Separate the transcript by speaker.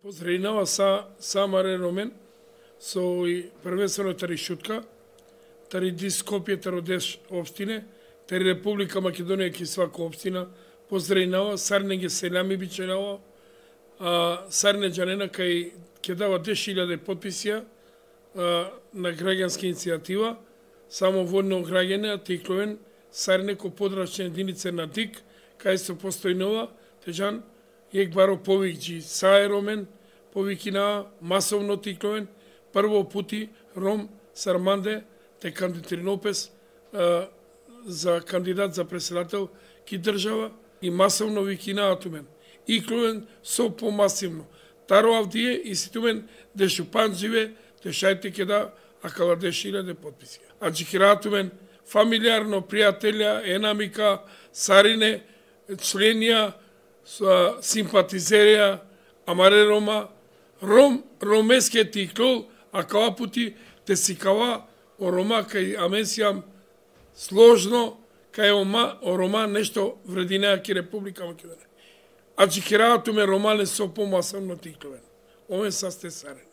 Speaker 1: Поздравинава Самаре Ромен, со и првенствено тари Шутка, тари Скопје, Тародеш општине, тари Република Македонија ки свака општина, поздравинава, Сарне ги селами биченава, Сарне Джанена кај ќе дава 10.000 подписија на граѓанска иницијатива, само водно граѓане, Тикловен, Сарне ко подрачна единица на ДИК, кај се постојнува, Тежан, Јек баро повикџи Сај Ромен, повикина масовно Тикловен, прво пути Ром Сарманде, те кандидатиринопес за кандидат за председател ки држава и масовно викинаат умен. Икловен со помасивно. Таро Авдие и ситумен де Шупан живе, де шајте ке да акала 10.000 подписи. А джикираат умен фамилиарно, пријателја, енамика, Сарине, членија, симпатизерија, Амаре Рома, Ромеске Тиклол, а кава пути те си кава о Рома кај Аменсијам сложно, кај о Рома нешто врединеа ки Република Македонија. А джикираат уме Романе со помасовно Тикловен. Овен са сте Сарен.